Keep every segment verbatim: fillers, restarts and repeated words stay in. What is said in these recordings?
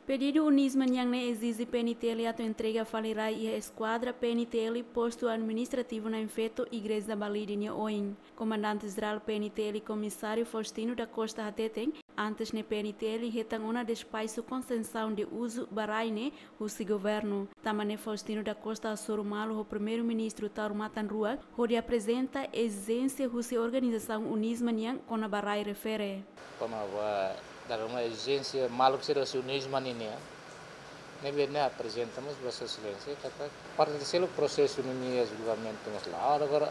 Pedidu UNISMA nian ne'e ezije PNTL atu entrega fali rai iha eskuadra PNTL postu administrativu Na'in Feto, Igreja Balide nia oin. Komandante Jerál PNTL Komisáriu Faustino da Costa hateten, antes ne'e PNTL hetan ona despaxu konsesaun de uzu ba rai ne'e husi governu. Tanba ne'e Faustino da Costa hasoru malu ho Primeiru-Ministru Taur Matan Ruak hodi aprezenta ezijénsia husi organizasaun UNISMA nian kona-ba rai refere. Kona-ba dala ruma ezijénsia maluk sira husi UNISMA nian, ne'ebé ne'e aprezenta mós ba Sua Exelénsia katak parte seluk prosesu ne'e nia julgamentu mós la'o. Agora,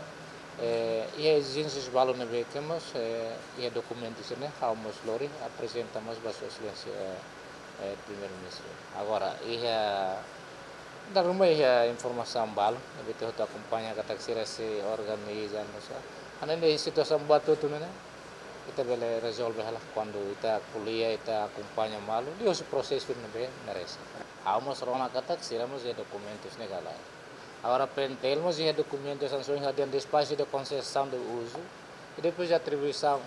eh, iha ezijénsias balu ne'ebé ke mós, eh, iha dokumentu sira-ne'e ha'u mós lori aprezenta mós ba Sua Exelénsia, eh, eh, Primeiru-Ministru. Agora, iha dala ruma iha informasaun balu ne'ebé ita hotu akompaña katak sira sei organiza, no sa. Hanesan ne'e situasaun buat hotu ne'e, ita bele rezolve hela kuandu ita ko'alia, ita akompaña malu, liuhusi prosesu ne'ebé merese. Ha'u mós rona katak sira mós iha dokumentus ne'e ka lae. Agora PNTL mós iha dokumentus hanesan ohin ha'u dehan despaxu de konsesaun de uzu, i depois atribuisaun.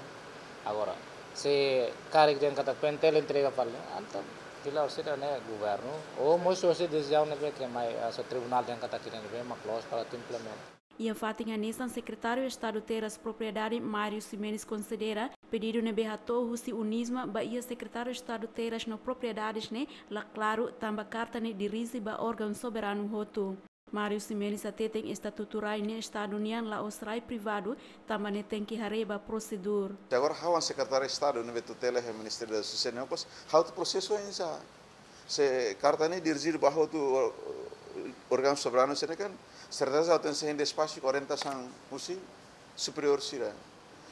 Agora, se karik dehan katak PNTL entrega fali, entaun fila orsida ne'e governu, ou mós orsida desizaun ne'ebé ke mai, ah, se tribunál dehan katak ida ne'ebé mak loos para atu implementa. Iha fatin hanesan, Sekretáriu Estadu Terras Propriedade Mário Ximenes konsidera pedidu ne'ebé hato'o husi UNISMA ba iha Sekretáriu Estadu Terras no Propriedades ne'e la klaru, tanba karta ne'e dirije ba órgaun soberanu hotu. Mário Ximenes hateten estatutu rai ne'e Estadu nian, la'ós rai privadu, tanba ne'e tenke haree ba prosedura. Agora ha'u hanesan Sekretáriu Estadu ne'ebé tutela iha Ministériu da Justisa ne'e, pois, ha'u atu prosesu oinsá? Se karta ne'e dirije ba hotu or-, órgaun soberanu sira-ne'e kan, serteza ha'u tenke hein despaxu ho orientasaun husi superiór sira.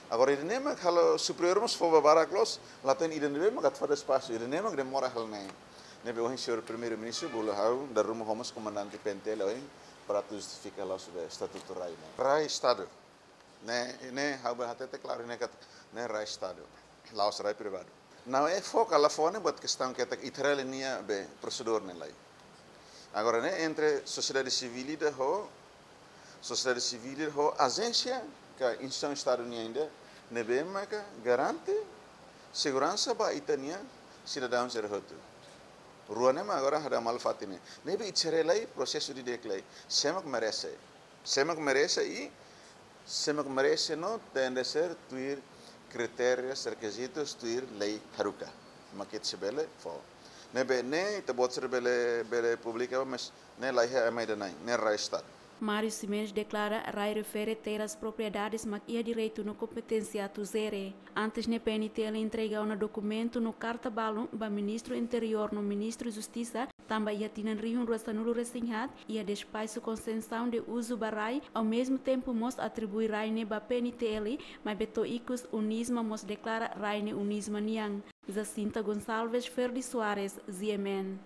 Agora ida-ne'e mak halo superiór mós fó ba barak loos, la hatene ida ne'ebé mak atu fó despaxu, ida-ne'e mak demora hela ne'e. Ne'ebé ohin Señór Primeiru-Ministru bolu ha'u dala ruma ho mós komandante PNTL ohin para atu justifika loos ba estatutu rai ne'e. Rai Estadu. Ne'e, ne'e ha'u bele hatete klaru ne'e katak ne'e rai Estadu, la'ós rai privadu. Ne'e fó ka la fó ne'e buat kestaun ketak ita haree nia be prosedura ne'e lai. Agora ne'e entre sosiedade sivíl ida ho, sosiedade sivíl ida ho ajénsia ka instituisaun Estadu nian ida ne'ebé maka garante seguransa ba ita-nia sidadaun sira hotu. Rua ne'e mak agora hadau malu fatin ne'e. Ne'ebé ita haree lai prosesu didi'ak lai. Sé mak merese. Sé mak merese i sé mak merese no tenke ser tuir kritériu, rekizitu, tuir lei haruka. Mak ita sei bele fó. Ne'ebé ne'e ita-boot sira bele, bele publika, mas ne'e la iha ema ida na'in, ne'e rai Estadu. Mário Ximenes deklara rai refere terras propriedades mak iha direitu no kompeténsia atu jere. Antes ne'e PNTL entrega ona dokumentu no karta balun ba Ministru Interiór no Ministru Justisa, tanba iha tinan rihun rua sanulu-resin-haat iha despaxu konsesaun de uzu ba rai, ao mesmo tempo mós atribui rai ne'e ba PNTL, maibé to'o ikus UNISMA mós deklara rai ne'e UNISMA nian. Jacinta Gonçalves, Ferdi Soares, G M N.